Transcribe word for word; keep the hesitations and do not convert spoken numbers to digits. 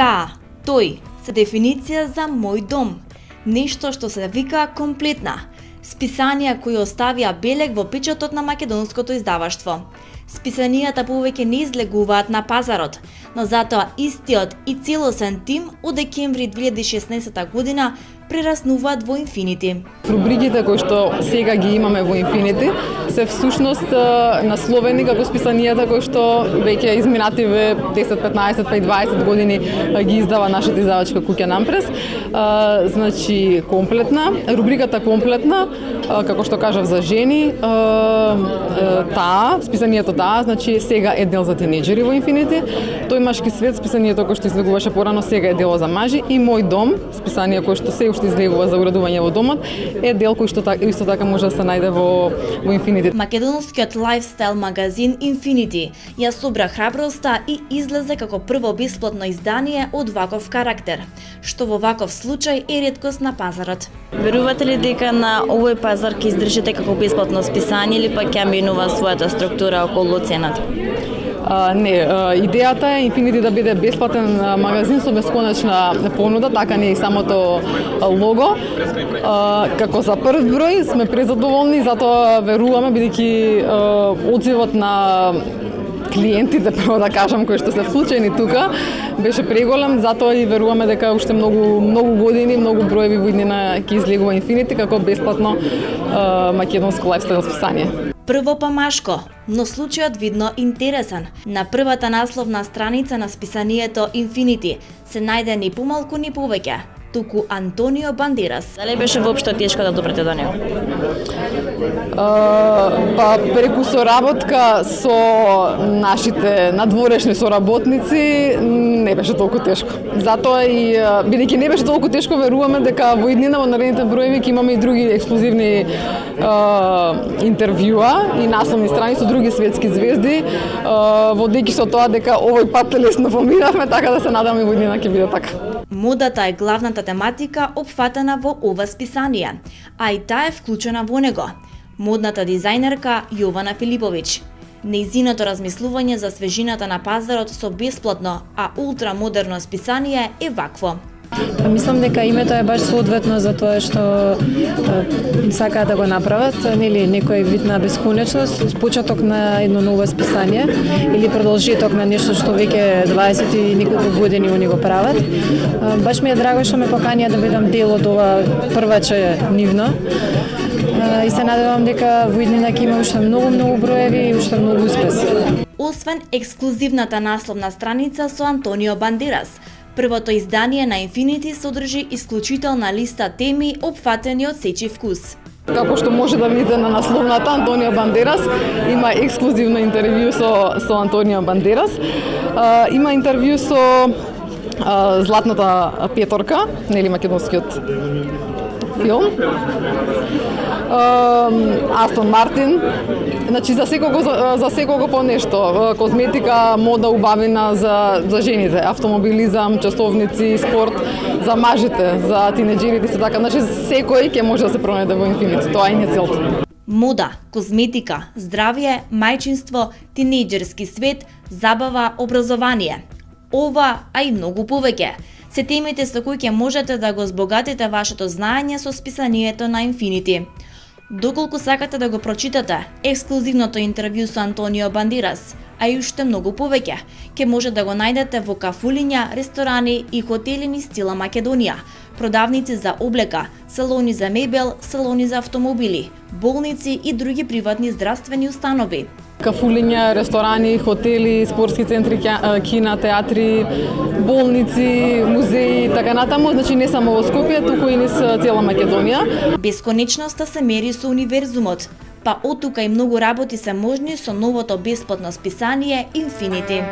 Таа, тој се дефиниција за мој дом. Нешто што се вика комплетна. Списанија кои оставија белег во печатот на македонското издаваштво. Списанијата повеќе не излегуваат на пазарот, но затоа истиот и целосен тим од декември две илјади и шеснаесетта година прераснуваат во Инфинити. Рубриките кои што сега ги имаме во Инфинити се всушност насловени како списанијата кои што веќе изминативе десет, петнаесет, па и дваесет години ги издава нашата издавачка куќа Нампрес. Значи комплетна, рубриката комплетна, како што кажав за жени, таа, списанието таа, значи сега е дел за тинеџери во Инфинити. Тој машки свет, списанието кој што излегуваше порано, сега е дело за мажи, и Мој дом, списание кој што се уште излегува за уредување во домот, е дел кој што така, исто така може да се најде во во Инфинити. Македонскиот лајфстайл магазин Инфинити ја собра храброста и излезе како прво бесплатно издание од ваков карактер, што во ваков случај е реткост на пазарот. Верувате ли дека на овој пазар ќе издржите како бесплатно списание или пак ќе менува својата структура околу цената? Uh, не, uh, идејата е Инфинити да биде бесплатен магазин со бесконечна понуда, така не е и самото лого. Uh, како за прв број сме презадоволни, затоа веруваме, бидејќи uh, одзивот на клиентите, прво да кажам, кои што се вклучени тука, беше преголем, затоа и веруваме дека уште многу многу години, многу броеви во иднина ќе излегува Инфинити како бесплатно uh, македонско лајфстайл списание. Прво па машко, но случајот видно интересен. На првата насловна страница на списанието Инфинити се најде ни помалку ни повеќе, туку Антонио Бандерас. Дали беше воопшто тешко да допрете до него? Uh, па преку соработка со нашите надворешни соработници не беше толку тешко. Затоа и бидејќи не беше толку тешко, веруваме дека во иднина во наредните броеви ќе имаме и други ексклузивни uh, интервјуа и насловни страни со други светски звезди, uh, водејќи со тоа дека овој пат лесно поминавме, така да се надам и во иднина ќе биде така. Модата е главната тематика опфатена во ова списание, а и таа е вклучена во него. Модната дизајнерка Јована Филиповиќ. Нејзиното размислување за свежината на пазарот со бесплатно, а ултрамодерно списание е вакво. Па мислам дека името е баш соодветно за тоа што сакаат да го направат, нели некој вид на бесконечност, почеток на едно ново списание или продолжеток на нешто што веќе дваесет и неколку години они го прават. Баш ми е драго што ме поканија да бидам дел од ова прваче нивно. И се надевам дека во иднина ќе има уште многу многу броеви и уште многу успеси. Освен ексклузивната насловна страница со Антонио Бандерас, првото издание на Инфинити содржи исклучителна листа теми опфатени од сечи вкус. Како што може да видите на насловната, Антонио Бандерас има ексклузивно интервју со со Антонио Бандерас. Uh, има интервју со uh, Златната петорка, нели македонскиот филм. Uh, Астон Мартин. Значи за секого за, за секого по нешто, козметика, мода, убавина за за жените, автомобилизам, часовници, спорт, за мажите, за тинеџерите се така, значи секој ќе може да се пронајде во Инфинити. Тоа е не целта. Мода, козметика, здравје, мајчинство, тинеџерски свет, забава, образование. Ова, а и многу повеќе се темите со кои ќе можете да го збогатите вашето знаење со списанието на Инфинити. Доколку сакате да го прочитате ексклузивното интервју со Антонио Бандерас, а и уште многу повеќе, ќе може да го најдете во кафулиња, ресторани и хотели низ цела Македонија, продавници за облека, салони за мебел, салони за автомобили, болници и други приватни здравствени установи. Кафулиња, ресторани, хотели, спортски центри, кина, театри, болници, музеи, така натаму, значи не само во Скопје, туку и низ цела Македонија. Бесконечноста се мери со универзумот, па оттука и многу работи се можни со новото бесплатно списание Инфинити.